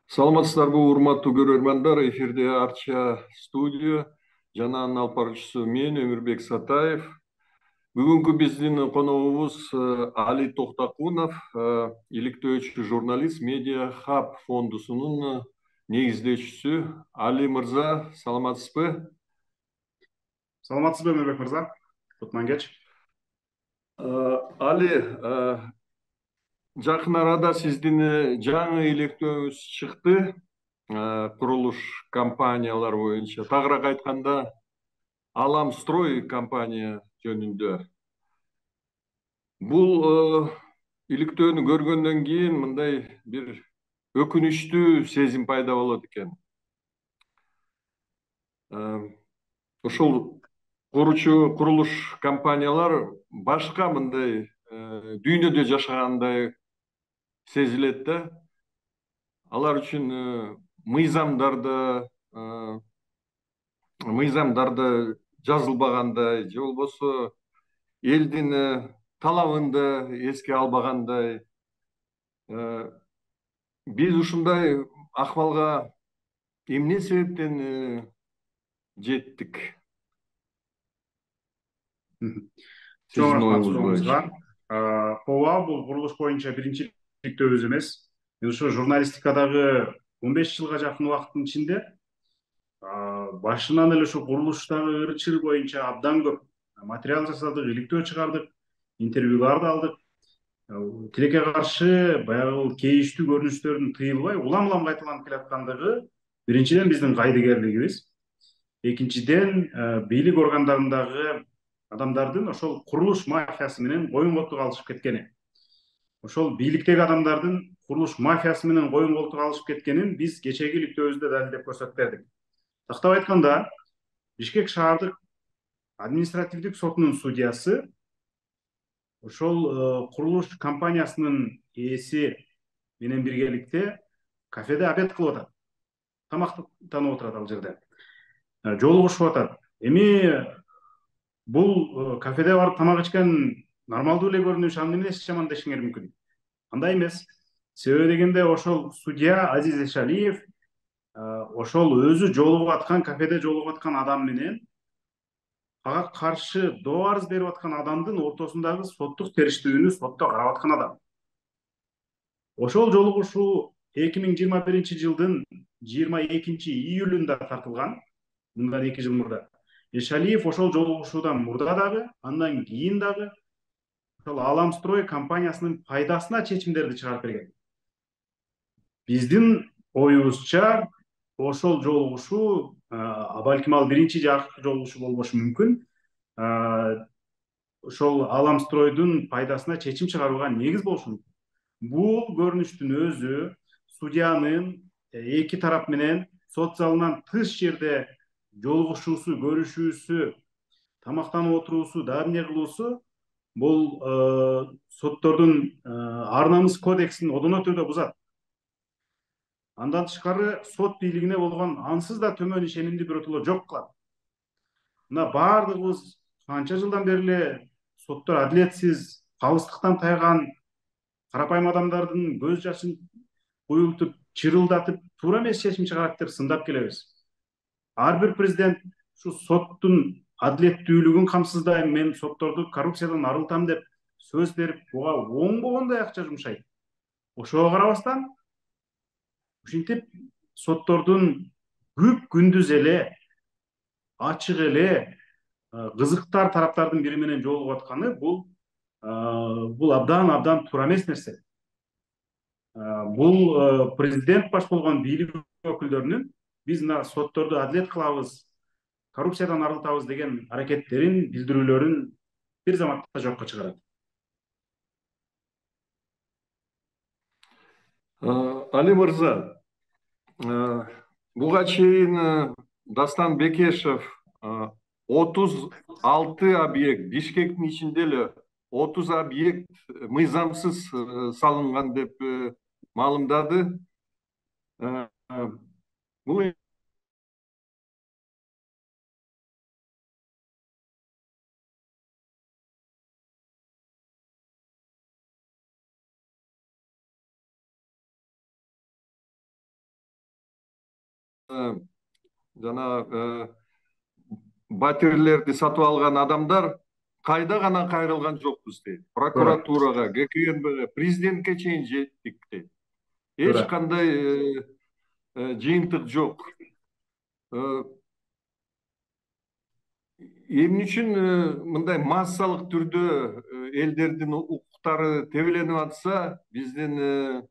Саламатсыздарбы, урматтуу көрөрмандар. Эфирде Арча студия жана анын алып баруучусу мен Өмүрбек Сатаев. Бүгүнкү биздин коногубуз Али Токтокунов, иликтөөчү журналист, Медиа Хаб фондусунун негиздөөчүсү. Али мырза, саламатсызбы? Саламатсызбы Өмүрбек мырза? Кутман кеч. Али, жакын арада сиздин жаңы иликтөөңүз чыкты. Курулуш компаниялар боюнча, тагыраак айтканда Аламстрой компания жөнүндө. Бул иликтөөнү көргөндөн кийин мындай бир өкүнүчтүү сезим пайда болот экен. Ушул курулуш компаниялар башка мындай дүйнөдө жашагандай сезилет да. Алар үчүн мыйзамдарда жазылбагандай, же болбосо элдин талабын да эске албагандай. Биз ушундай акыбалга эмне себептен жеттик? Чоң Сиздин рахмат оюңуз сурооңузга. боюнча. Ооба, бул курулуш боюнча биринчи иликтөөбүз эмес. Мен ушу журналистикадагы 15 жылга жакын убакыттын ичинде башынан эле ушу курулуштагы ыры-чыры боюнча абдан көп материал жасадык, иликтөө чыгардык, интервьюлар да алдык. Тилекке каршы баягы кейиштүү көрүнүштөрдүн тыйылбай улам кайталанып келаткандыгы биринчиден биздин кайдыгерлигибиз. Экинчиден, бийлик органдарындагы адамдардын ошол курулуш мафиясы менен коюн колтук алышып кеткени. Ошол бийликтеги адамдардын курулуш мафиясы менен коюн колтук алышып кеткенин биз кечээги иликтөөбүздө далилдеп көрсөтүп бердик. Тактап айтканда, Бишкек шаардык административдик сотунун судьясы ошол курулуш компаниясынын ээси менен биргеликте кафеде обед кылып атат. Тамактанып отурат ал жерде. Жолугушуп атат. Эми бул кафеде барып тамак ичкен нормалдуу эле көрүнүш, аны эмнesi жаман дешиңер мүмкүн? Андай эмес. Себеби дегенде ошол судья Азиз Эшалиев ошол өзү жолугуп аткан кафеде жолугуп аткан адам менен ага каршы доо арыз берип аткан адамдын ортосундагы соттук териштүүнү сотто карап аткан адам. Ошол жолугушуу 2021 жылдын 22 июлунда тартылган, мындан 2 жыл мурда. Эшалиев ошол жолугушуудан мурда дагы, андан кийин дагы ошол Аламстрой компаниясынын пайдасына чечимдерди чыгарып берген. Биздин оюбузча ошол жолугушуу балким ал биринчи же акыркы жолугушуу болбошу мүмкүн. Ошол Аламстройдун пайдасына чечим чыгарууга негиз болушу мүмкүн. Бул көрүнүштүн өзү судьянын эки тарап менен сот залынан тыш жерде жолугушуусу, көрүшүүсү, тамактанып отуруусу, дагы эмне кылуусу бул соттордун ар намыс кодексин одоно түрдө бузат. Андан тышкары сот бийлигине болгон ансыз да төмөн ишенимди биротоло жок кылат. Мына баардыгыбыз канча жылдан бери эле соттор адилетсиз, калыстыктан тайган карапайым адамдардын көз жашын куюлтуп, чырылдатып, туура эмес чечим чыгарат деп сындап келебиз. Ар бир президент ушу соттун адилеттүүлүгүн камсыздайм, мен сотторду коррупциядан арылтам деп сөз берип, буга оңбогондой акча жумшайт. Ошого карабастан ушинтип соттордун күп күндүз эле ачык эле кызыктар тараптардын бири менен жолугуп атканы бул абдан туура эмес нерсе. Бул президент баш болгон бийлик өкүлдөрүнүн биз мына сотторду адилет кылабыз, коррупциядан арылтабыз деген аракеттерин, билдирүүлөрүн бир заматта жокко чыгарат. Али мырза, буга чейин Дастан Бекешев 36 объект, Бишкектин ичинде эле 30 объект мыйзамсыз салынган деп маалымдады. Бул жана батирлерди сатып алган адамдар кайда гана кайрылган жокпуз дейт. туура Прокуратурага, ГКНБге, президентке чейин жеттик дейт. Эч туура кандай жыйынтык жок. Эмне үчүн мындай массалык түрдө элдердин укуктары тебеленип атса, биздин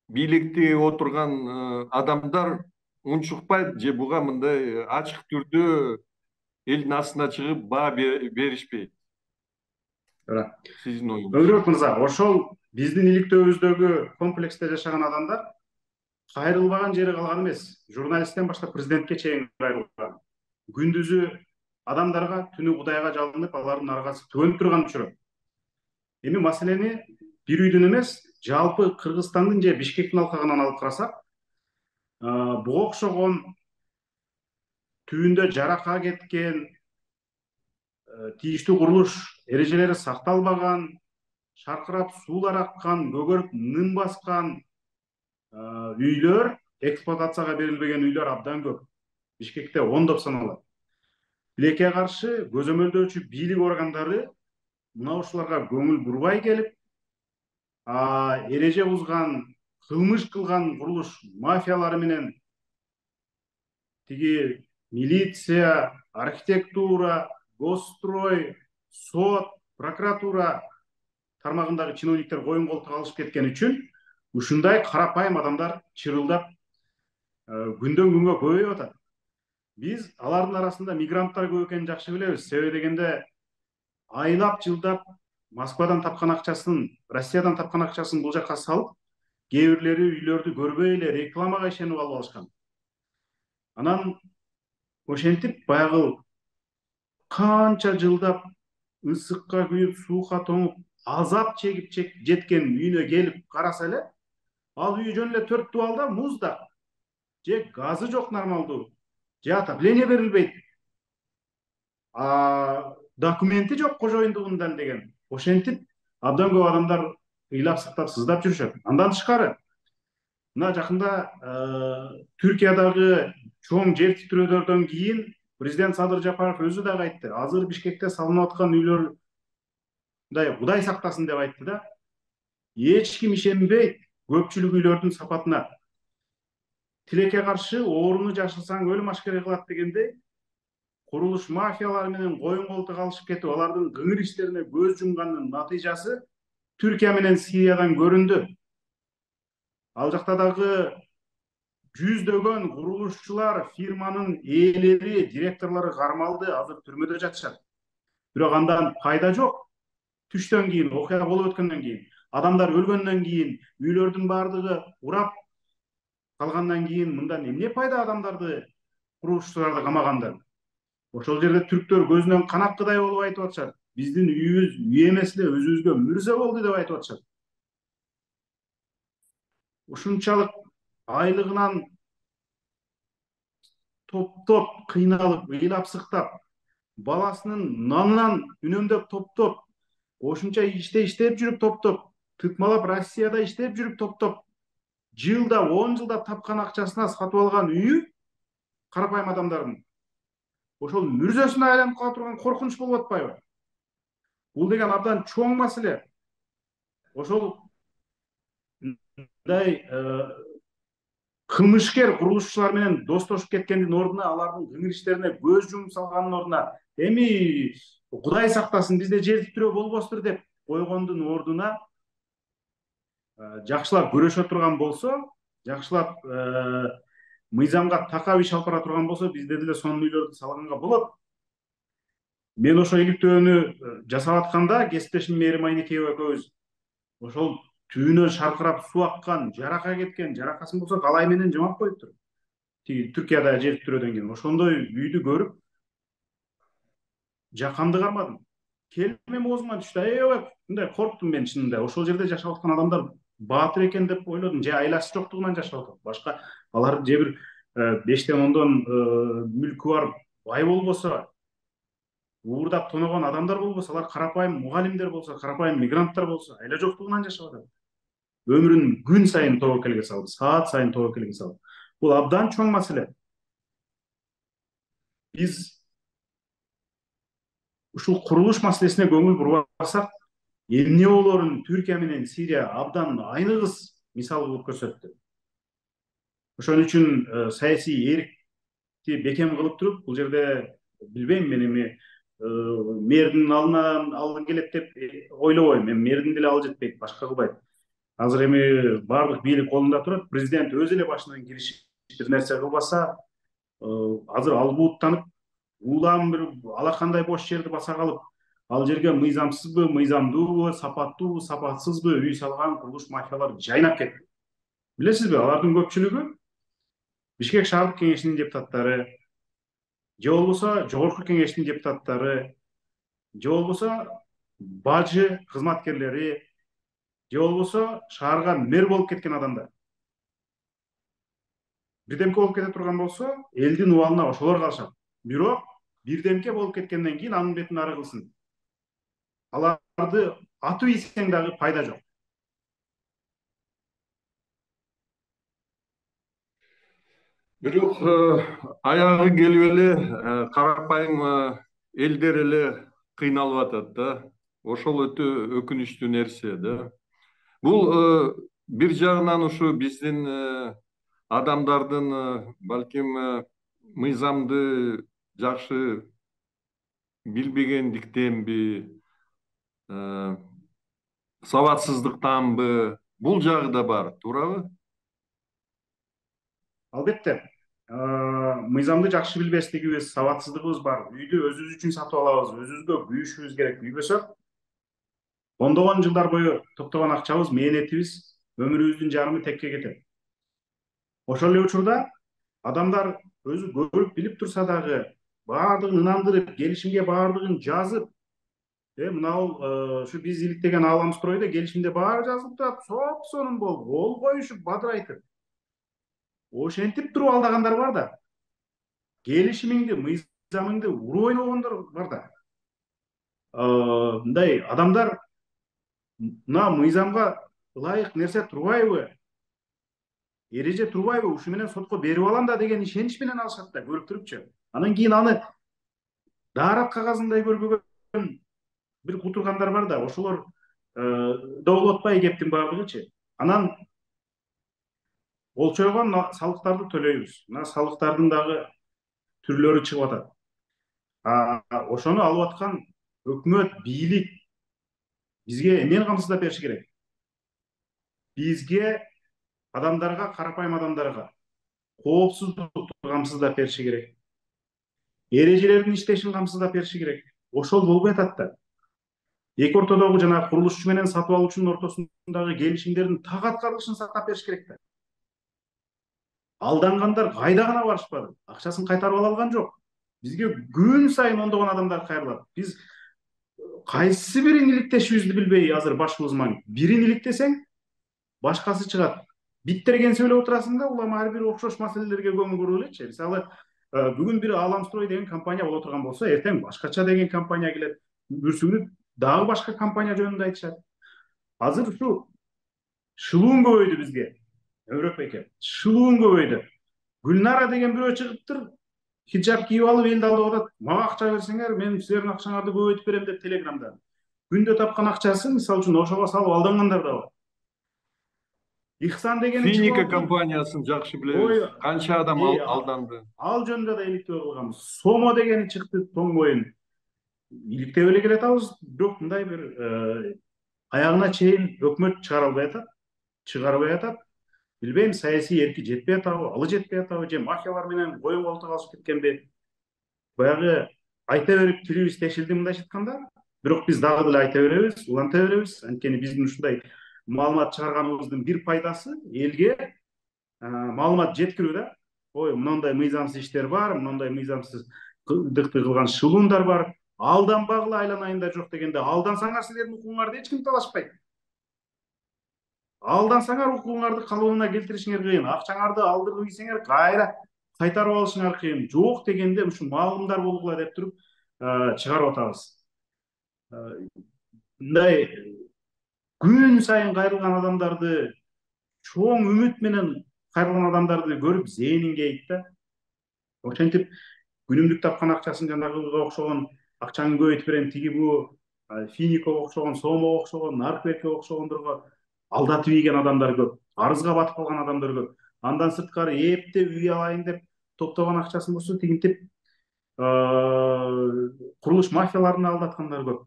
бийликте отурган адамдар унчукпайт же буга мындай ачык түрдө элдин астына чыгып баа беришпейт. туура Сиздин оюңуз? Өмүрбек мырза, ошол биздин иликтөөбүздөгү комплексте жашаган адамдар кайрылбаган жери калган эмес. Журналисттен баштап президентке чейин кайрылган. Күндүзү адамдарга, түнү Кудайга жалынып, алардын аргасы төгөнүп турган учуру. Эми маселени бир үйдүн эмес, жалпы Кыргызстандын же Бишкектин алкагынан алып карасак, буга окшогон түбүндө жарака кеткен, тийиштүү курулуш эрежелери сакталбаган, шаркырап суулар аккан, көгөрүп нын баскан үйлөр, эксплуатацияга берилбеген үйлөр абдан көп. Бишкекте ондоп саналат. Тилекке каршы көзөмөлдөөчү бийлик органдары мына ушуларга көңүл бурбай келип, эреже бузган, кылмыш кылган курулуш мафиялары менен тиги милиция, архитектура, госстрой, сот, прокуратура тармагындагы чиновниктер коюн колтук алышып кеткен үчүн ушундай карапайым адамдар чырылдап күндөн күнгө көбөйүп атат. Биз алардын арасында мигранттар көп экенин жакшы билебиз. Себеби дегенде айлап жылдап Москвадан тапкан акчасын, Россиядан тапкан акчасын бул жака салып, кээ бирлери үйлөрдү көрбөй эле рекламага ишенип алып алышкан. Анан ошентип баягы канча жылдап ысыкка күйүп, суукка тоңуп, азап чегип жеткен үйүнө келип караса эле, ал үй жөн эле 4 дубалда муздак, же газы жок нормалдуу, же отопление берилбейт, документи жок кожоюндугун далилдеген. Ошентип абдан көп адамдар ыйлап сыктап сыздап жүрүшөт. Андан тышкары мына жакында Түркиядагы чоң жер титирөөдөрдөн кийин президент Садыр Жапаров өзү дагы айтты. Азыр Бишкекте салынып аткан үйлөр мындай Кудай сактасын деп айтты да. Эч ким ишенбейт көпчүлүк үйлөрдүн сапатына. Тилекке каршы ооруну жашырсаң өлүм ашкере кылат дегендей, курулуш мафиялары менен коюн колтук алышып кетип, алардын кыңыр иштерине көз жумганын натыйжасы Түркия менен Сириядан көрүндү. Ал жакта дагы жүздөгөн курулушчулар, фирманын ээлери, директорлору кармалды, азыр түрмөдө жатышат. Бирок андан пайда жок. Түштөн кийин, окуя болуп өткөндөн кийин, адамдар өлгөндөн кийин, үйлөрдүн баардыгы урап калгандан кийин мындан эмне пайда адамдарды, курулушчуларды камагандан? Ошол жерде түрктөр көзүнөн кан аккыдай болуп айтып атышат. Биздин үйүбүз үй эмес эле, өзүбүзгө мүрзө болду деп айтып атышат. Ушунчалык айлыгынан топтоп кыйналып, ыйлап сыктап, баласынын нанынан үнөмдөп топтоп, ошунча иштеп жүрүп топтоп, тыкмалап Россияда иштеп жүрүп топтоп, жылда 10 жылда тапкан акчасына сатып алган үйү карапайым адамдардын ошол мүрзөсүнө айланып кала турган коркунуч болуп атпайбы? Бул деген абдан чоң маселе. Ошол мындай кылмышкер курулушчулар менен достошуп кеткендин ордуна, алардын кыңыр иштерине көз жумуп салганын ордуна, эми Кудай сактасын бизде жер титирөө болбостур деп койгондун ордуна жакшылап көрөшө турган болсо, жакшылап мыйзамга такап иш алып бара турган болсо, бизде деле сонун үйлөрдү салганга болот. Мен ошо иликтөөнү жасап атканда кесиптешим Мээрим Айнекеева экөөбүз ошол түбүнөн шаркырап суу аккан, жарака кеткен, жаракасын болсо калай менен жамап коюптур. Тиги Түркияда жер титирөөдөн кийин ошондой үйдү көрүп жакамды кармадым. Келип мен оозуман түштү. Аябай мындай корктум мен чынында. Ошол жерде жашап аткан адамдар баатыр экен деп ойлодум. Же айласы жоктугунан жашап атат. Башка алар же бир 5-тен 10дон мүлкү бар бай болбосо, уурдап тоногон адамдар болбосо, алар карапайым мугалимдер болсо, карапайым мигранттар болсо, айла жоктугунан жашап атат. Өмүрүн күн сайын тобокелге салып, саат сайын тобокелге салып. Бул абдан чоң маселе. Биз ушул курулуш маселесине көңүл бурбасак, эмне болорун Түркия менен Сирия абдан айныгыс мисал кылып көрсөттү. Ошон үчүн саясий эркти бекем кылып туруп, бул жерде билбейм, мен эми мэрдин алдынан алгы келет деп ойлобойм. Мен мэрдин деле ал жетпейт, башка кылбайт. Азыр эми баардык бийлик колунда турат. Президент өзү эле башынан киришип бир нерсе кылбаса, азыр албууттанып, улам бир алакандай бош жерди баса калып, ал жерге мыйзамсызбы, мыйзамдуубу, сапаттуубу, сапатсызбы үй салган курулуш мафиялар жайнап кетти. Билесизби, алардын көпчүлүгү Бишкек шаардык кеңешинин депутаттары, же болбосо жогорку кеңештин депутаттары, же болбосо бажы кызматкерлери, же болбосо шаарга мэр болуп кеткен адамдар. Бирдемке болуп кете турган болсо, элдин убалына ошолор калышат. Бирок бирдемке болуп кеткенден кийин анын бетин ары кылсын. Аларды атып ийсең дагы пайда жок. Бирок аягы келип эле карапайым элдер эле кыйналып атат да. Ошол өтө өкүнүчтүү нерсе да. Бул бир жагынан ушу биздин адамдардын балким мыйзамды жакшы билбегендиктенби, сабатсыздыктанбы, бул жагы да бар, туурабы? Албетте, мыйзамды жакшы билбестигибиз, сабатсыздыгыбыз бар. Үйдү өзүбүз үчүн сатып алабыз, өзүбүзгө күйүшүбүз керек. Күйбөсөк, ондогон жылдар бою токтогон акчабыз, мээнетибиз, өмүрүбүздүн жарымы текке кетет. Ошол эле учурда адамдар өзү көрүп билип турса дагы баардыгын ынандырып, келишимге баардыгын жазып, мынау ушу биз иликтеген ааламстройдо келишимде баары жазылып турат, соп-сонун болуп, кол коюшуп, бадырайтып. Ошентип туруп алдагандар бар да. Келишимиңди, мыйзамыңды уруп ойногондор бар да. Мындай адамдар мына мыйзамга ылайык нерсе турбайбы? Эреже турбайбы? Ушу менен сотко берип алам да деген ишенич менен алышат да, көрүп турупчу. Анан кийин аны даарат кагазындай көрбөгөн бир кутургандар бар да, ошолор добул атпай кептин баардыгычы. Анан болчойгон салыктарды төлөйбүз. Мына салыктардын дагы түрлөрү чыгып атат. Ошону алып аткан өкмөт, бийлик бизге эмнени камсыздап бериши керек? Бизге, адамдарга, карапайым адамдарга коопсуздукту камсыздап бериши керек. Эрежелердин иштешин камсыздап бериши керек. Ошол болбой атат да. Эки ортодогу жана курулушчу менен сатып алуучунун ортосундагы келишимдердин так аткарылышын сактап бериш керек да. Алдангандар кайда гана барышпады, акчасын кайтарып ала алган жок. Бизге күн сайын ондогон адамдар кайрылат. Биз кайсы бирин иликтешибизди билбей азыр башыбыз маң. Бирин иликтесең, башкасы чыгат. Биттерген сөйлөп отурасың да, улам ар бир окшош маселелерге көңүл буруп элечи. Мисалы, бүгүн бир Ааламстрой деген компания боло турган болсо, эртең башкача деген компания келет. Бүрсүгүнүп дагы башка компания жөнүндө айтышат. Азыр ушу шылуун көбөйдү бизге. Өмүрөк бейке, шылуун көбөйдү. Гүлнара деген бирөө чыгыптыр, хиджаб кийип алып элди алдап атат. Мага акча берсеңер, мен силердин акчаңарды көбөйтүп берем деп телеграмда. Күндө тапкан акчасы, мисалы үчүн, ошого салып алдангандар да бар. Ихсан дегени чыгып Финика алып, компаниясын жакшы ой, билебиз. Канча адам алданды. ал жөнүндө да иликтөө кылганбыз. Сомо дегени чыкты, тоң боюн. Иликтеп эле келатабыз, бирок мындай бир аягына чейин өкмөт чыгара албай атат, чыгарбай атат. Билбейм, саясий эрки жетпей атабы, алы жетпей атабы, же мафиялар менен коен колтук алышып кеткенби. Баягы айта берип тилибиз тешилди мындайча айтканда, бирок биз дагы деле айта беребиз, уланта беребиз. Анткени биздин ушундай маалымат чыгарганыбыздын бир пайдасы элге маалымат жеткирүү да. Ой, мындай мыйзамсыз иштер бар, мындай мыйзамсыздыкты кылган шылуундар бар. Алданбагыла, айланайында жок дегенде, алдансаңар силердин укугуңарды эч ким талашпайт. Алдансаңар укугуңарды калыбына келтиришиңер кыйын, акчаңарды алдырып ийсеңер кайра кайтарып алышыңар кыйын. Жок дегенде ушу маалымдар болгула деп туруп чыгарып атабыз. Мындай күн сайын кайрылган адамдарды чоң үмүт менен кайрылган адамдарды көрүп зээнин кейит да. Ошентип күнүмдүк тапкан акчасын жанагыга окшогон акчаны көбөйтүп берем, тиги бу Финиковго окшогон, Сомого окшогон, Наркбекке окшогондорго алдатып ийген адамдар көп, арызга батып калган адамдар көп. Андан сырткары эптеп үй алайын деп топтогон акчасын болсо тигинтип курулуш мафияларына алдаткандар көп.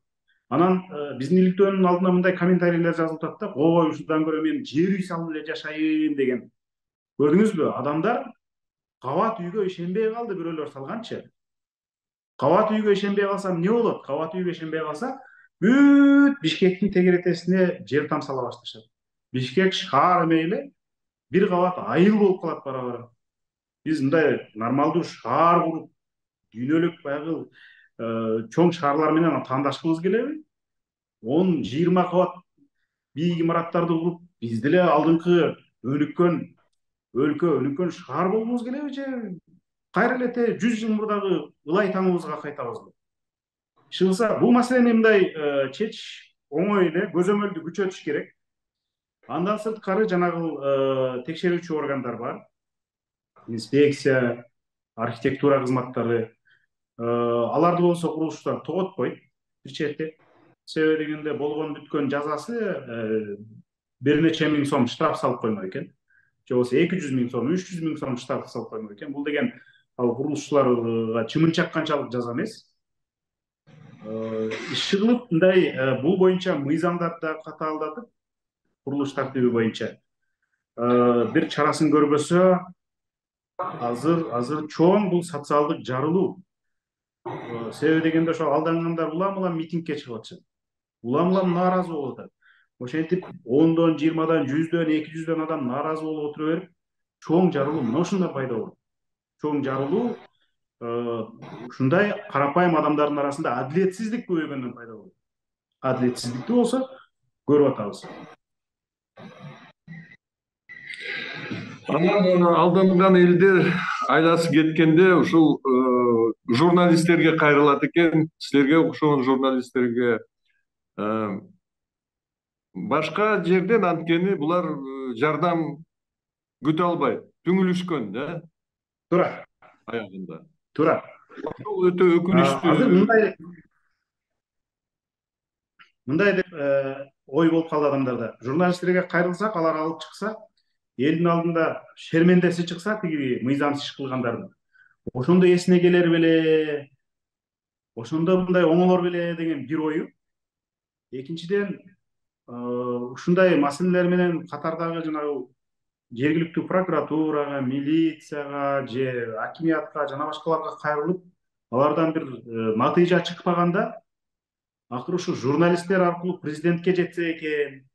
Анан биздин иликтөөнүн алдына мындай комментарийлер жазылып атат да: ой, ушундан көрө мен жер үй салып эле жашайын деген. Көрдүңүзбү? Адамдар кабат үйгө ишенбей калды, бирөөлөр салганчы. Кабат үйгө ишенбей калсам эмне болот? Кабат үйгө ишенбей калса, бүт Бишкектин тегеретесине жер тамсала башташат. Бишкек шаар эмейле бир кабат айыл болуп калат бара бара. Биз мындай нормалдуу шаар куруп, дүйнөлүк баягы чоң шаарлар менен таандашкыбыз келеби? 10-20 кабат бийик имараттарды куруп, биз деле алдыңкы өнүккөн өлкө, өнүккөн шаар болгубуз келеби, же кайра эле 100 жыл мурдагы ылай таңыбызга кайтабызбы? Чыгылса бул маселени мындай чечиш оңой эле, көзөмөлдү күчөтүш керек. Андан сырткары жанагы текшерүүчү органдар бар. Инспекция, архитектура кызматтары. Аларды болсо курулуштар тоготпойт бир чети. Себеби дегенде болгон бүткөн жазасы бир нече миң сом штраф салып коймок экен. Же болбосо 200 000 сом, 300 000 сом штраф салып коймок экен. Бул деген ал курулушчуларга чымын чакканчалык жаза эмес. Иш кылып мындай бул боюнча мыйзамдарды катаалдатып, курулуш тартиби боюнча бир чарасын көрбөсө, азыр чоң бул социалдык жарылуу. Себеби дегенде ошо алдангандар улам митингге чыгып атышат. Улам нааразы болуп атат. Ошентип 10дон, 20дан, 100дөн, 200дөн адам нааразы болуп отура берип, чоң жарылуу мына ушунда пайда болот. Чоң жарылуу ушундай карапайым адамдардын арасында адилетсиздик көбөйгөндөн пайда болот. Адилетсиздикти болсо көрүп атабыз. Анан алданган элдер айласы кеткенде ушул журналисттерге кайрылат экен. Силерге окшогон журналисттерге башка жерден анткени булар жардам күтө албайт, түңүлүшкөн да Туура. аягында. Туура. Ошол өтө өкүнүчтүү. Азыр мындай деп ой болуп калды адамдарда. Журналисттерге кайрылсак, алар алып чыкса, элдин алдында шермендеси чыкса, тиги мыйзамсыз иш кылгандардын, ошондо эсине келер беле, ошондо мындай оңолор беле деген бир ою. Экинчиден, ушундай маселелер менен катардагы жанагы жергиликтүү прокуратурага, милицияга же акимиятка жана башкаларга кайрылып, алардан бир натыйжа чыкпаганда, акыры ушу журналисттер аркылуу президентке жетсе экен,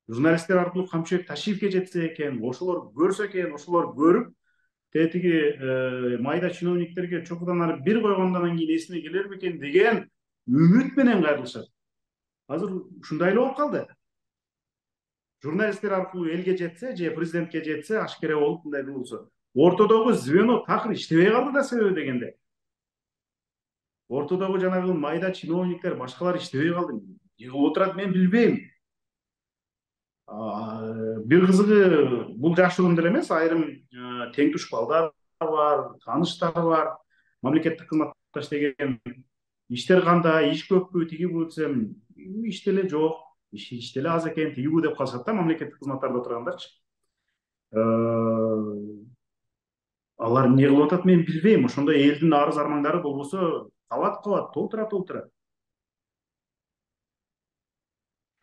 журналисттер аркылуу Камчыбек Ташиевке жетсе экен, ошолор көрсө экен, ошолор көрүп, тиги майда чиновниктерге чокудан ары бир койгондон кийин эсине келер бекен деген үмүт менен кайрылышат. Азыр ушундай эле болуп калды. Журналисттер аркылуу элге жетсе же президентке жетсе, ашкере болуп мындай кылылса, ортодогу звено такыр иштебей калды да, себеби дегенде. Ортодогу жанагы майда чиновниктер, башкалар иштебей калды. Эмне кылып отурат мен билбейм. Бир кызыгы бул жашыруун деле эмес, айрым тең туш балдар бар, тааныштар бар, мамлекеттик кызматта иштеген. Иштер кандай, иш көппү, тиги бу десем, иш деле жок, иш деле аз экен, тиги бу деп калышат да мамлекеттик кызматтарда отургандарчы. Алар эмне кылып атат мен билбейм. Ошондой элдин арыз армандары болбосо кабат толтура.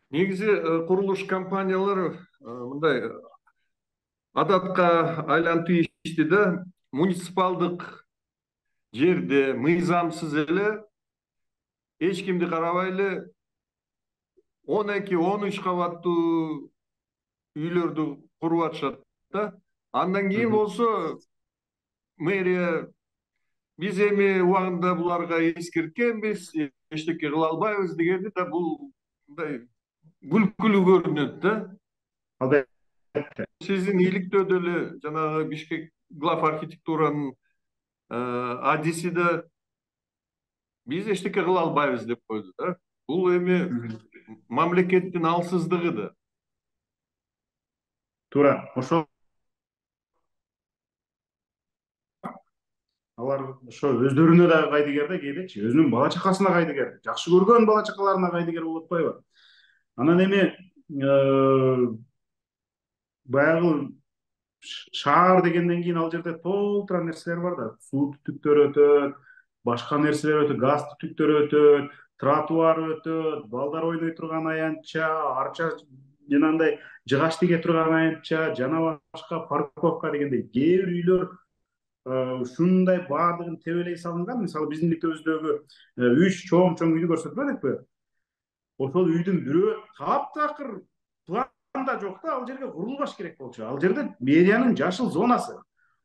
Негизи курулуш компаниялары мындай адатка айланып ийишти да, муниципалдык жерде мыйзамсыз эле эч кимди карабай эле 12-13 кабаттуу үйлөрдү куруп атышат да. Андан кийин болсо мэрия биз эми убагында буларга эскерткенбиз, эчтеке кыла албайбыз дегенди да, бул мындай күлкүлүү көрүнөт да. Албетте. Сиздин иликтөөдө эле жанагы Бишкек глав архитектуранын адиси да биз эчтеке кыла албайбыз деп койду да. Бул эми мамлекеттин алсыздыгы да. Туура. Ошол алар ошо өздөрүнө дагы кайдыгер да, кээдечи өзүнүн бала чакасына кайдыгер, жакшы көргөн бала чакаларына кайдыгер болуп атпайбы? Анан эми баягы шаар дегенден кийин ал жерде толтура нерселер бар да, суу түтүктөрү өтөт, башка нерселер өтөт, газ түтүктөрү өтөт, тротуар өтөт, балдар ойной турган аянтча, арча жанагындай жыгач тиге турган аянтча жана башка парковка дегендей кээ бир үйлөр ушундай баардыгын тебелей салынган. Мисалы биздин мектебибиздөгү 3 чоң үйдү көрсөтүп элекпи? Ошол үйдүн бирөө таптакыр планда жок да, ал жерге курулбаш керек болчу. Ал жерде мэриянын жашыл зонасы.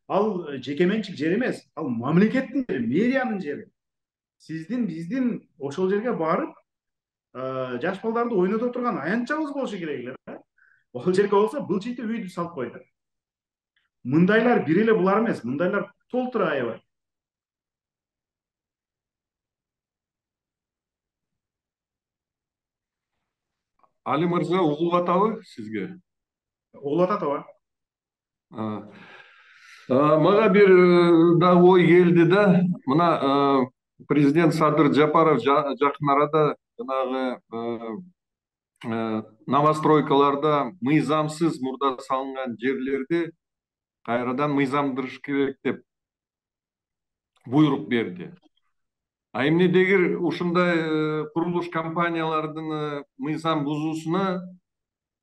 Ал жеке менчик жер эмес, ал мамлекеттин жери, мэриянын жери. Сиздин биздин ошол жерге барып жаш балдарды ойното турган аянтчабыз болушу керек эле да. Ошол жерге болсо былчыйтып үйдү салып койду. Мындайлар бир эле булар эмес, мындайлар толтура аябай. Али мырза угулуп атабы сизге? Угулуп атат ооба. Мага бир дагы ой келди да. Мына президент Садыр Жапаров жакын арада жанагы новостройкаларда мыйзамсыз мурда салынган жерлерди кайрадан мыйзамдырыш керек деп буйрук берди. А эмнедегир ушундай курулуш компаниялардын мыйзам бузуусуна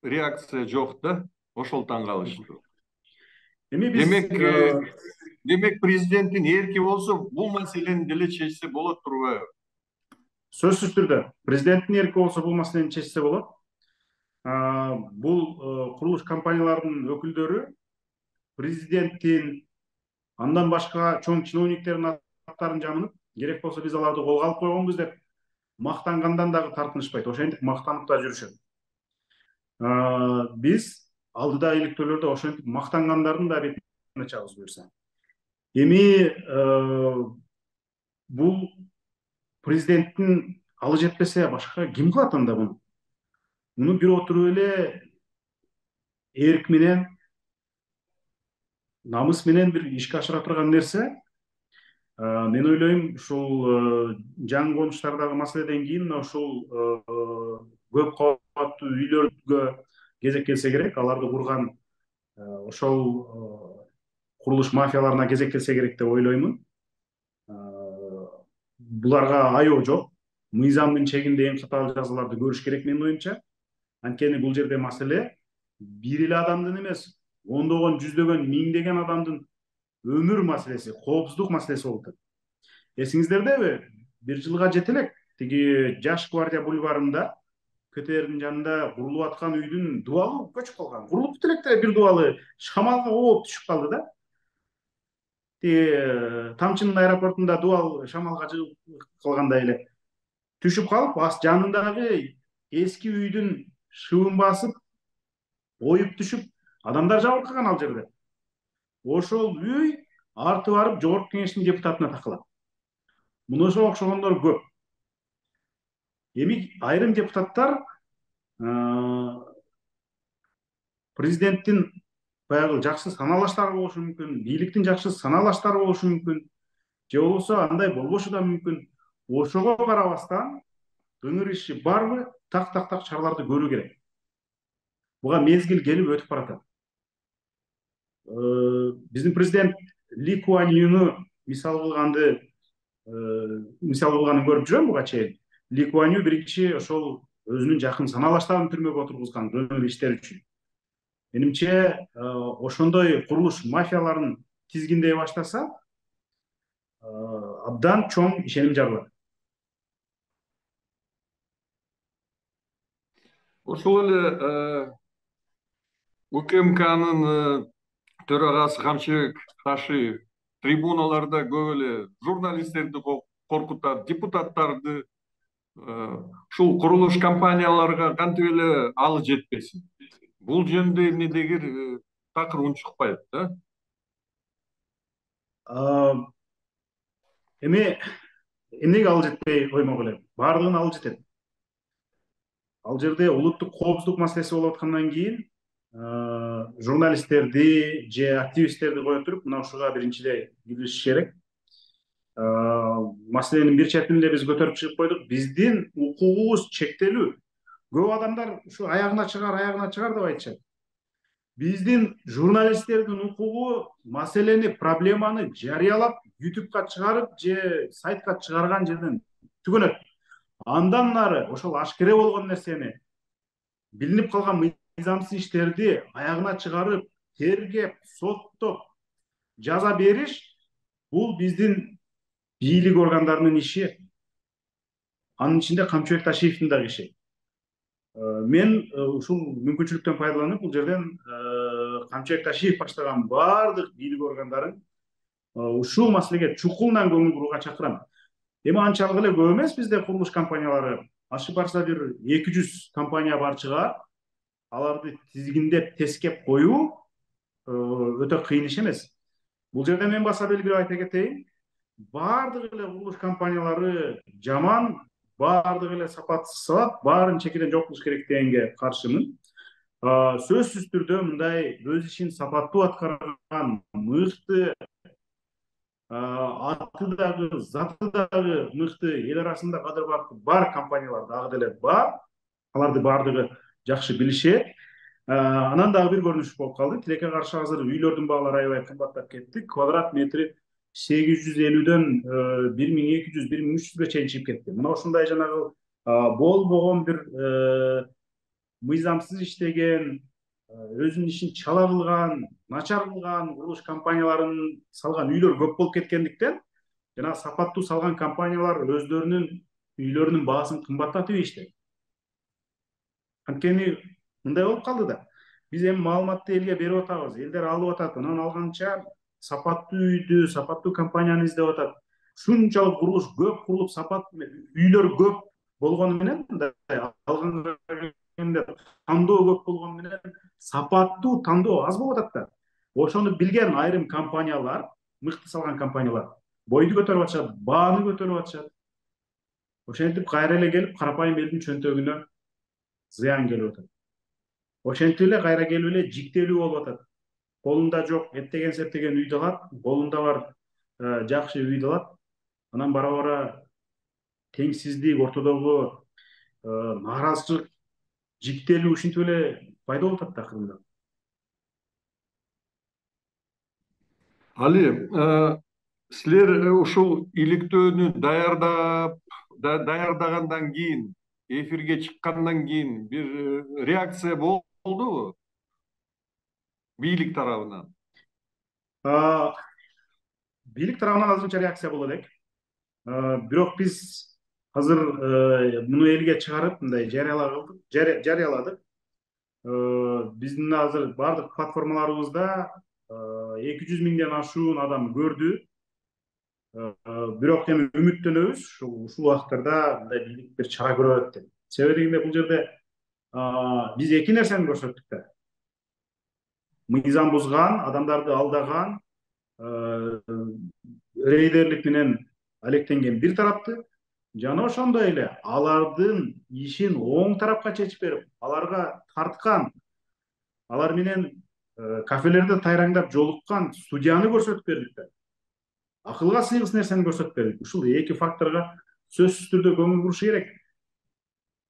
реакция жок да, ошол таң калыштуу. Эми биз Демек президенттин эрки болсо бул маселени деле чечсе болот турбайбы? сөзсүз түрдө президенттин эрки болсо бул маселени чечсе болот. Бул курулуш компанияларынын өкүлдөрү президенттин андан башка чоң чиновниктердин аттарын жамынып, керек болсо биз аларды колго алып койгонбуз деп мактангандан дагы тартынышпайт. Ошентип мактанып да жүрүшөт. Биз алдыда иликтөөлөрдө ошентип мактангандардын да бетине чабыз буюрса. Эми бул президенттин алы жетпесе башка ким кылат анда буну? Муну бир отуруп эле эрк менен, намыс менен бир ишке ашыра турган нерсе. Мен ойлойм, ушул жаңы конуштардагы маселеден кийин ушул көп кабаттуу үйлөргө кезек келсе керек, аларды курган ошол курулуш мафияларына кезек келсе керек деп ойлоймун. Буларга аёо жок. Мыйзамдын чегинде эң катаал жазаларды көрүш керек менин оюмча. Анткени бул жерде маселе бир эле адамдын эмес, ондогон, жүздөгөн, миңдеген адамдын өмүр маселеси, коопсуздук маселеси болуп атат. Эсиңиздердеби? Бир жылга жете элек тиги Жаш гвардия бульварында КТРдин жанында курулуп аткан үйдүн дубалы көчүп калган. Курулуп бүт элек бир дубалы шамалга ооп түшүп калды да. Тиги Тамчынын аэропортунда дубал шамалга жыгып калгандай эле түшүп калып, жанындагы эски үйдүн шыбын басып, оюп түшүп, адамдар жабыркаган ал жерде. Ошол үй арты барып жогорку кеңештин депутатына такалат. Мунуга окшогондор көп. Эми айрым депутаттар президенттин баягы жакшы саналаштары болушу мүмкүн, бийликтин жакшы саналаштары болушу мүмкүн, же болбосо андай болбошу да мүмкүн. Ошого карабастан ыңыр иши барбы, так чараларды көрүү керек. Буга мезгил келип өтүп баратат. Биздин президент Ли Куан Юну мисал кылганын көрүп жүрөм буга чейин. Ли Куан Ю биринчи ошол өзүнүн жакын саналаштарын түрмөгө отургузган жөнөкөй иштер үчүн. Менимче ошондой курулуш мафияларын тизгиндей баштаса, абдан чоң ишеним жаралат. Ошол эле УКМКнын төрагасы Камчыбек Рашиев трибуналарда көп эле журналисттерди коркутат, депутаттарды. Ушул курулуш компанияларга кантип эле алы жетпесин? Бул жөнүндө эмнедегир такыр унчукпайт да. Эми эмнеге алы жетпей коймок эле? Баардыгына алы жетет. Ал жерде улуттук коопсуздук маселеси болуп аткандан кийин журналисттерди же активисттерди кое туруп, мына ушуга биринчиде киришиш керек. маселенин бир четин эле биз көтөрүп чыгып койдук. Биздин укугубуз чектелүү. Көп адамдар ушу аягына чыгар деп айтышат. Биздин журналисттердин укугу маселени, проблеманы жарыялап, ютубка чыгарып же сайтка чыгарган жерден түгөнөт. Андан нары ошол ашкере болгон нерсени, билинип калган мыйзамсыз иштерди аягына чыгарып, тергеп, соттоп, жаза бериш бул биздин бийлик органдарынын иши. Анын ичинде Камчыбек Ташиевдин дагы иши. Мен ушул мүмкүнчүлүктөн пайдаланып бул жерден Камчыбек Ташиев баштаган баардык бийлик органдарын ушул маселеге чукулунан көңүл бурууга чакырам. Эми анчалык эле көп эмес бизде курулуш компаниялары. Ашып барса бир 200 компания бар чыгар. Аларды тизгиндеп, тескеп коюу өтө кыйын иш эмес. Бул жерде мен баса белгилеп айта кетейин. Баардык эле курулуш компаниялары жаман, баардык эле сапатсыз салат, баарын чекеден жок кылыш керек дегенге каршымын. Сөзсүз түрдө мындай өз ишин сапаттуу аткарган, мыкты, аты дагы, заты дагы мыкты, эл арасында кадыр бар компаниялар дагы деле бар. Аларды баардыгы жакшы билишет. Анан дагы бир көрүнүш болуп калды. Тилекке каршы азыр үйлөрдүн баалары аябай кымбаттап кетти. Квадрат метри 850дөн 1200, 1300ге чейин чыгып кетти. Мына ушундай жанагы болбогон бир мыйзамсыз иштеген, өзүнүн ишин чала кылган, начар кылган курулуш компанияларын салган үйлөр көп болуп кеткендиктен, жана сапаттуу салган компаниялар өздөрүнүн үйлөрүнүн баасын кымбаттатып ийишти. Анткени мындай болуп калды да. Биз эми маалыматты элге берип атабыз, элдер алып атат, анан алганча сапаттуу үйдү, сапаттуу компанияны издеп атат. Шунчалык курулуш көп курулуп, сапаттуу үйлөр көп болгону менен, алганга тандоо көп болгону менен сапаттуу тандоо аз болуп атат да. Ошону билген айрым компаниялар, мыкты салган компаниялар бойду көтөрүп атышат, бааны көтөрүп атышат. Ошентип кайра эле келип карапайым элдин чөнтөгүнө зыян келип атат. Ошентип эле кайра келип эле жиктелүү болуп атат. Колунда жок эттеген септеген үйдү алат, колунда бар жакшы үйдү алат. Анан бара-бара теңсиздик, ортодогу нааразычылык, жиктелүү ушинтип эле пайда болуп атат акырында. Али, силер ушул иликтөөнү даярдагандан кийин, эфирге чыккандан кийин бир реакция болдубу бийлик тарабынан? Бийлик тарабынан азырынча реакция боло элек. Бирок биз азыр муну элге чыгарып мындай жарыяладык. Биздин азыр баардык платформаларыбызда 200 миңден ашуун адам көрдү. Бирок эми үмүттөнөбүз ушул убакыттарда мындай бийлик бир чара көрөт деп. Себеби дегенде бул жерде биз эки нерсени көрсөттүк да. Мыйзам бузган, адамдарды алдаган, рейдерлик менен алектенген бир тарапты, жана ошондой эле алардын ишин оң тарапка чечип берип, аларга тарткан, алар менен кафелерде тайраңдап жолуккан судьяны көрсөтүп бердик да. Акылга сыйгыс нерсени көрсөтүп бердик. Ушул эки факторго сөзсүз түрдө көңүл буруш керек.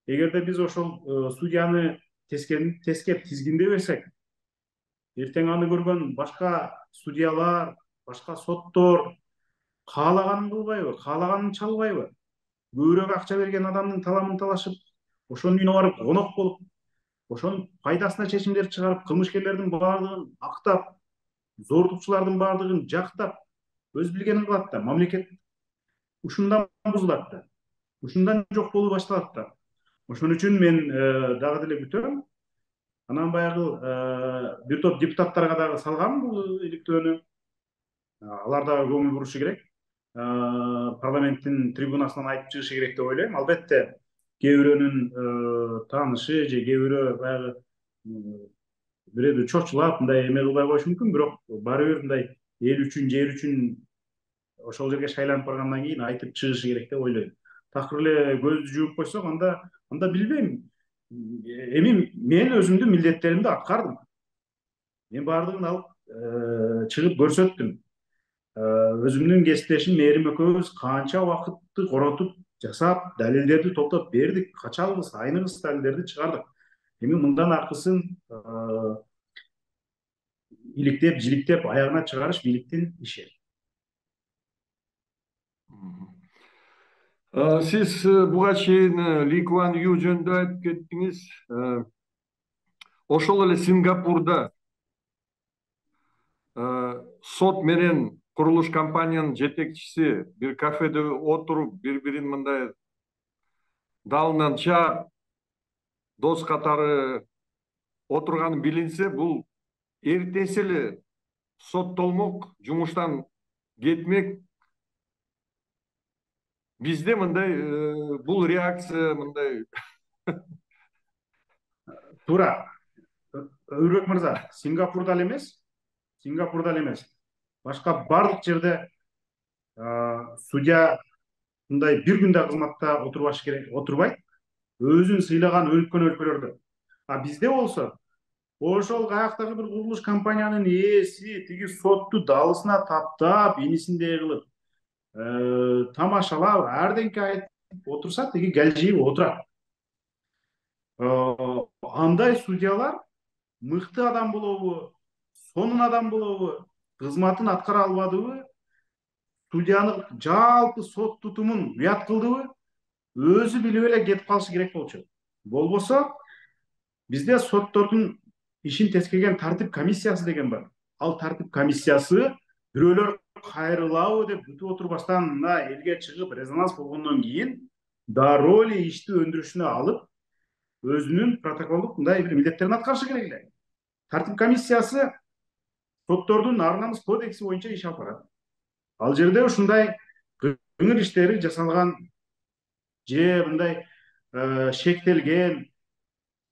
Эгерде биз ошол судьяны тескеп тизгиндей берсек, эртең аны көргөн башка судьялар, башка соттор каалаганын кылбайбы, каалаганын чалбайбы? Көбүрөөк акча берген адамдын таламын талашып, ошонун үйүнө барып конок болуп, ошонун пайдасына чечимдер чыгарып, кылмышкерлердин баардыгын актап, зордукчулардын баардыгын жактап, өз билгенин кылат да. Мамлекет ушундан бузулат да. Ушундан жок болуу башталат да. Ошон үчүн мен дагы деле күтөм. Анан баягы бир топ депутаттарга дагы салгам бул иликтөөнү. Алар дагы көңүл бурушу керек. Парламенттин трибунасынан айтып чыгышы керек деп ойлойм. Албетте, кээ бирөөнүн таанышы же кээ бирөө баягы бирөөдү чочулап, мындай эме кылбай коюшу мүмкүн, бирок баары бир мындай эл үчүн, жер үчүн ошол жерге шайланып баргандан кийин айтып чыгышы керек деп ойлойм. Такыр эле көздү жууп койсок, анда билбейм. Эми мен өзүмдүн милдеттеримди аткардым. Мен баардыгын алып чыгып көрсөттүм. өзүмдүн кесиптешим Мээрим экөөбүз канча убакытты коротуп жасап, далилдерди топтоп бердик, качабыз, айныбыз далилдерди чыгардык. Эми мындан аркысын иликтеп, жиликтеп аягына чыгарыш бийликтин иши. Сиз буга чейин Ли Куан Ю жөнүндө айтып кеттиңиз. Ошол эле Сингапурда сот менен курулуш компаниянын жетекчиси бир кафеде отуруп, бири-бирин мындай далынан чаап, дос катары отурганы билинсе, бул эртеси эле соттолмок, жумуштан кетмек. Бизде мындай бул реакция мындай. Туура. Өрбек мырза, Сингапурда эле эмес, башка бардык жерде судья мындай бир күндө кызматта отурбайт, өзүн сыйлаган өлкөн өлкөлөрдө. А бизде болсо, ошол каяктагы бир курулуш компаниянын ээси тиги сотту далысына таптап, инисиндей кылып, тамашалап, ардеңке айтып отурса, тиги келжиип отурат. Андай судьялар мыкты адам болобу, сонун адам болобу, кызматын аткара албадыбы, судьянын жалпы сот тутумун уят кылдыбы, өзү билип эле кетип калышы керек болчу. Болбосо бизде соттордун ишин тескеген тартип комиссиясы деген бар. Ал тартип комиссиясы бирөөлөр кайрылабы деп күтүп отурбастан мына элге чыгып резонанс болгондон кийин дароо эле ишти өндүрүшүнө алып, өзүнүн протоколдук мындай бир милдеттерин аткарышы керек эле. Тартип комиссиясы соттордун ар намыс кодекси боюнча иш алып барат. Ал жерде ушундай кыңыр иштери жасалган же мындай шектелген,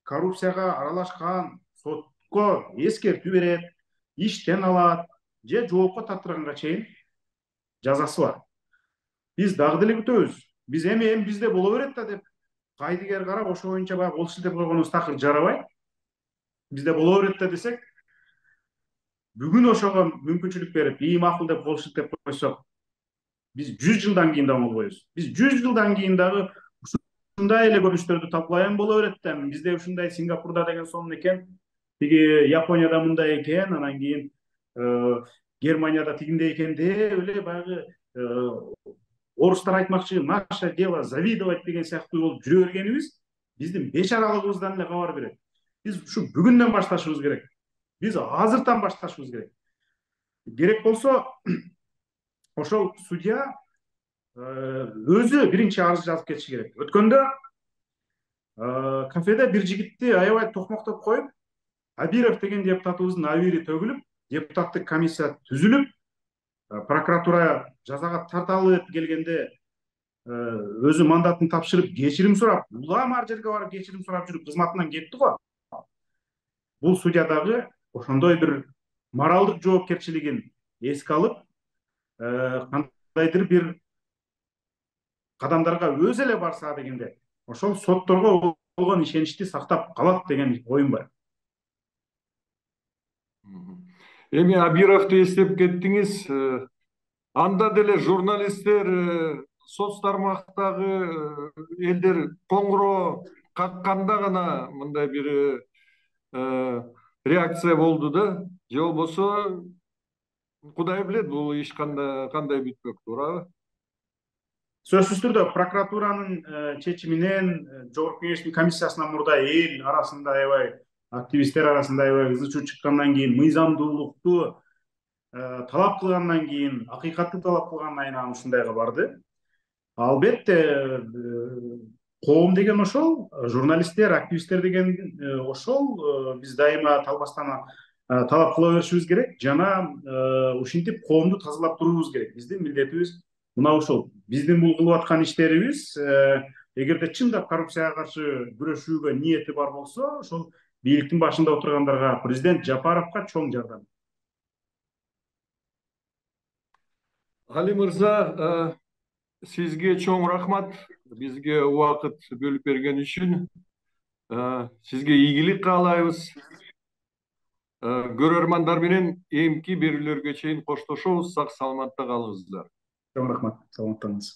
коррупцияга аралашкан сотко эскертүү берет, иштен алат же жоопко тартырганга чейин жазасы бар. Биз дагы деле күтөбүз. Биз эми бизде боло берет да деп кайдыгер карап, ошо боюнча баягы кол шилтеп койгонубуз такыр жарабайт. Бизде боло берет да десек, бүгүн ошого мүмкүнчүлүк берип, ии макул деп кол шилтеп койсок, биз 100 жылдан кийин дагы болбойбуз. Биз 100 жылдан кийин дагы ушундай эле көрүнүштөрдү талкуулайм боло берет да. Бизде ушундай Сингапурда деген сонун экен, тиги Японияда мындай экен, анан кийин Германияда тигиндей экен деп эле баягы орустар айтмакчы, наше дело завидовать деген сыяктуу болуп жүрө бергенибиз биздин бечаралыгыбыздан эле кабар берет. Биз ушу бүгүндөн башташыбыз керек. Биз азыртан башташыбыз керек. Керек болсо ошол судья өзү биринчи арыз жазып кетиши керек. Өткөндө кафеде бир жигитти аябай токмоктоп коюп, Абиров деген депутатыбыздын абири төгүлүп, депутаттык комиссия түзүлүп, прокуратура жазага тарталы деп келгенде өзү мандатын тапшырып, кечирим сурап, улам ар жерге барып кечирим сурап жүрүп кызматынан кетти го. Бул судья дагы ошондой бир моралдык жоопкерчилигин эске алып, кандайдыр бир кадамдарга өзү эле барса дегенде, ошол сотторго болгон ишеничти сактап калат деген оюм бар. Эми Абировду эстеп кеттиңиз. Анда деле журналисттер, соц тармактагы элдер коңгуроо какканда гана мындай бир реакция болду да. Же болбосо Кудай билет, бул иш кандай бүтмөк, туурабы? Сөзсүз түрдө прокуратуранын чечиминен Жогорку Кеңештин комиссиясынан мурда эл арасында аябай, активисттер арасында аябай ызы чуу чыккандан кийин, мыйзамдуулукту талап кылгандан кийин, акыйкатты талап кылгандан кийин анан ушундайга барды. Албетте коом деген ошол, журналисттер, активисттер деген ошол, биз дайыма талбастан талап кыла беришибиз керек жана ушинтип коомду тазалап туруубуз керек. Биздин милдетибиз мына ушул. Биздин бул кылып аткан иштерибиз эгерде чындап коррупцияга каршы күрөшүүгө ниети бар болсо, ошол бийликтин башында отургандарга, президент Жапаровго чоң жардам. Али мырза, сизге чоң рахмат, бизге убакыт бөлүп берген үчүн. Сизге ийгилик каалайбыз. Көрөрмандар менен эмки берүүлөргө чейин коштошобуз. Сак саламатта калыңыздар. Чоң рахмат. Саламаттаныңыз.